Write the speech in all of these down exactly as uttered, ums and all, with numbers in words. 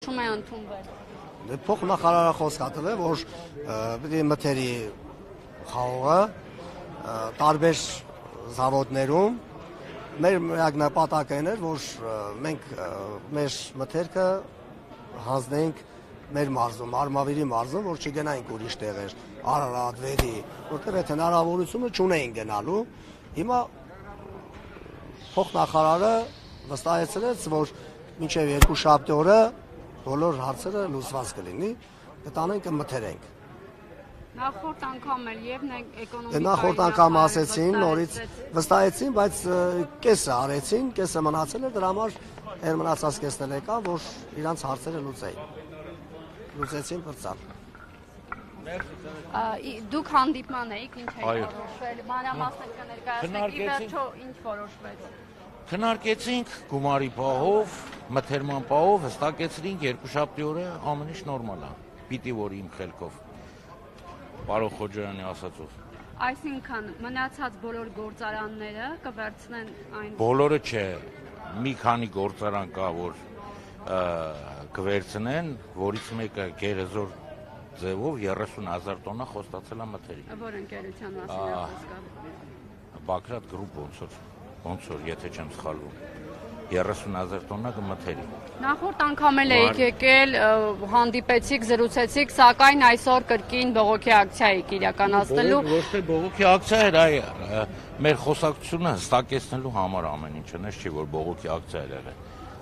որոշում է ընդունվել։ Փոխնախարարը խոսք ա տվել, որ պիտի մթերի խաղողը տարբեր զավոդներում մեր միակ նպատակը էր, որ մենք մեր մթերքը հանձնենք մեր մարզում, Արմավիրի մարզում, որ չգնայինք ուրիշ տեղեր, Արարատ, Վերի, որտեղ այդ հնարավորությունը չունեին գնալու։ Հիմա փոխնախարարը վստահեցրեց, որ մինչև երկուշաբթի օրը բոլոր հարցերը լուծված կլինի, կտանենք մթերենք։ Նախորդ անգամ էլ եւ էկոնոմիկայի Նախորդ անգամ ասեցին, նորից վստահեցին, բայց կեսը արեցին, կեսը մնացել է, դրա համար էր մնացած կեսն էլ եկա, որ իրանց հարցերը լուծեին։ Լուծեցին բրծալ։ Դուք հանդիպման էիք, ինչ եք որոշվել, մանրամասներ կներկայացնեք, ի վերջո ինչ որոշվեց։ Քննարկեցինք գումարի պահով, մթերման պահով, հստակեցրինք երկուշաբթի օրը ամեն ինչ նորմալ է։ Պիտի որ իմ խելքով Պարոն Խոջարյանի ասածով։ Այսինքն մնացած բոլոր գործարանները կվերցնեն այն։ Բոլորը չէ, մի քանի գործարան կա, որ կվերցնեն, որից մեկը գերեզոր ձևով երեսուն հազար տոննա խոստացել է մթերի։ Որ ընկերության մասին է խոսքը։ Բագրատ գրուպ ոնց որ, ոնց որ, եթե չեմ սխալվում, երեսուն հազար տոննա կմթերի։ Նախորդ անգամ էլ եք եկել, հանդիպեցիք, զրուցեցիք, սակայն այսօր կրկին բողոքի ակցիա եք իրականացնելու։ Ոչ թե բողոքի ակցիա էր, այ մեր խոսակցությունը հստակեցնելու համար ամեն ինչը, նես չի որ բողոքի ակցիա էր եղել։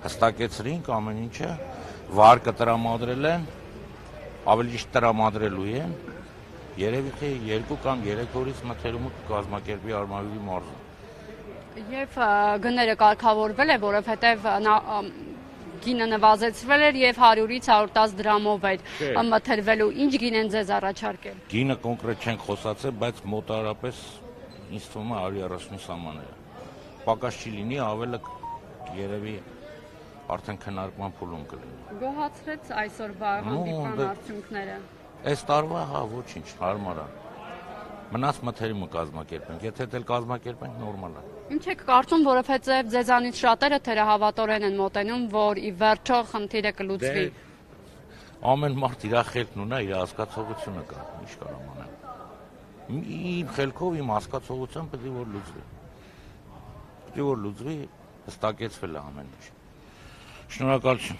Հստակեցրինք ամեն ինչը, վարկը տրամադրել են, ավելի ճիշտ տրամադրելու են, երևի թե երկու կամ երեք օրից մթերումը կկազմակերպի Արմավիրի մարզում։ Եվ գները կարգավորվել է, որովհետև գինը նվազեցվել էր եւ հարյուրից հարյուր տասը դրամով էր մթերվելու։ Ինչ գին են ձեզ առաջարկել։ Գինը կոնկրետ չենք խոսացել, բայց մոտարապես ինձ թվում է հարյուր երեսունի սահմանները։ Պակաս չի լինի, ավելը երևի արդեն քննարկման փուլում կլինի։ Գոհացրեց այսօրվա հանդիպման արդյունքները։ Այս տարվա հա ոչինչ, հարմար է։ Մնաց մթերումը կազմակերպենք, եթե դել կազմակերպենք նորմալ է։ Ինչ եք կարծում, որովհետև ձեզանից շատերը թերահավատորեն են մոտենում, որ ի վերջո խնդիրը կլուծվի։ Ամեն մարդ իր խելքն ունի, իր հասկացողությունը կա, ինչ կարամ անեմ։ Իմ խելքով, իմ հասկացողությամբ պետք է որ լուծվի։ Պետք է որ լուծվի, հստակեցվել է ամեն ինչ։ Շնորհակալություն։